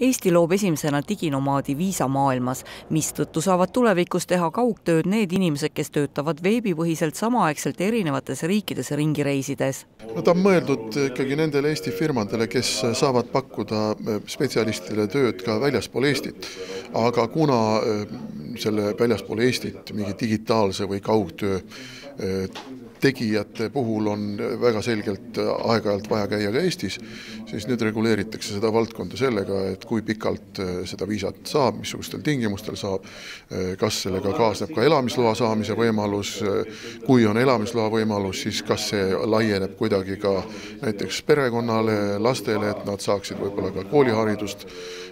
Eesti loob esimesena diginomaadi viisa maailmas, mistõttu saavad tulevikus teha kaugtööd need inimesed, kes töötavad veebipõhiselt samaaegselt erinevates riikides ringi reisides. No, ta on mõeldud ikkagi nendele Eesti firmadele, kes saavad pakkuda spetsialistile tööd ka väljaspool Eestit. Aga kuna selle väljaspool Eestit mingi digitaalse või kaugtöö tegijate puhul on väga selgelt aeg-ajalt vaja käia ka Eestis, siis nüüd reguleeritakse seda valdkonda sellega, et kui pikalt seda viisat saab, missugustel tingimustel saab, kas sellega kaasneb ka elamisloa saamise võimalus, kui on elamisloa võimalus, siis kas see laieneb kuidagi ka näiteks perekonnale, lastele, et nad saaksid võib-olla ka kooliharidust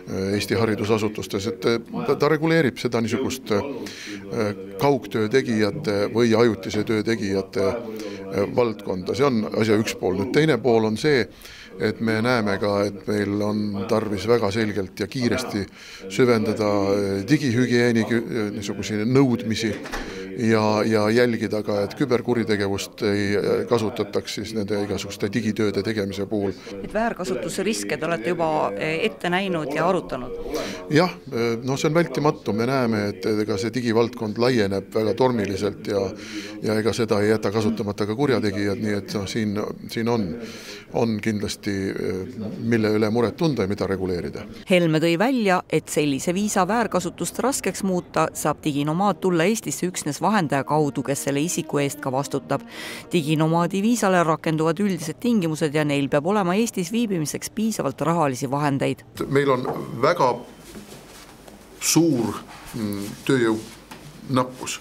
Eesti haridusasutustes, et ta reguleerib seda niisugust kaugtöö tegijate või ajutise töö tegijate valdkonda. See on asja üks pool. Nüüd teine pool on see, et me näeme ka, et meil on tarvis väga selgelt ja kiiresti süvendada digihügieeni niisuguseid nõudmisi ja jälgida ka, et küberkuritegevust ei kasutataks siis nende igasuguste digitööde tegemise puhul. Et väärkasutuse riske te olete juba ette näinud ja arutanud? Jah, no see on vältimatu. Me näeme, et ega see digivaldkond laieneb väga tormiliselt ja ega seda ei jäta kasutamata ka kurjategijad, nii et siin on kindlasti mille üle muret tunda ja mida reguleerida. Helme tõi välja, et sellise viisa väärkasutust raskeks muuta saab diginomaad tulla Eestisse üksnes vahendaja kaudu, kes selle isiku eest ka vastutab. Diginomaadi viisale rakenduvad üldised tingimused ja neil peab olema Eestis viibimiseks piisavalt rahalisi vahendeid. Meil on väga suur tööjõu nappus,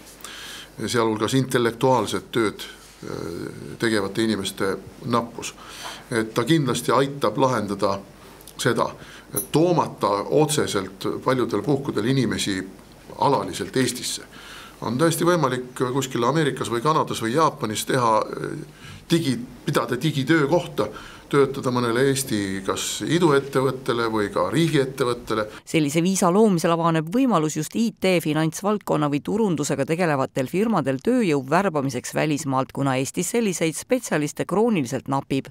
sealhulgas intellektuaalset tööd tegevate inimeste nappus. Et ta kindlasti aitab lahendada seda, et toomata otseselt paljudel puhkudel inimesi alaliselt Eestisse. On täiesti võimalik kuskil Ameerikas või Kanadas või Jaapanis pidada digitöö kohta, töötada mõnele Eesti kas iduettevõttele või ka riigiettevõttele. Sellise viisa loomisel avaneb võimalus just IT, finantsvaldkonna või turundusega tegelevatel firmadel tööjõu värbamiseks välismaalt, kuna Eestis selliseid spetsialiste krooniliselt napib.